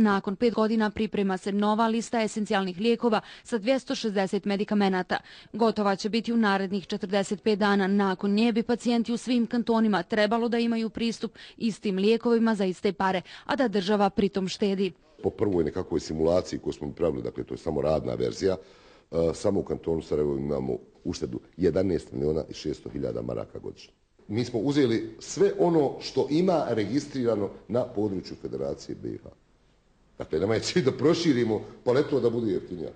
Nakon 5 godina priprema se nova lista esencijalnih lijekova sa 260 medikamenata. Gotova će biti u narednih 45 dana. Nakon nje bi pacijenti u svim kantonima trebalo da imaju pristup istim lijekovima za iste pare, a da država pritom štedi. Po prvoj nekakvoj simulaciji koju smo pravili, dakle to je samo radna verzija, samo u kantonu Sarajevo imamo uštedu 11.600.000 maraka godišnje. Mi smo uzeli sve ono što ima registrirano na području Federacije BiH. Dakle, nama je cilj da proširimo paletu da bude jeftinija.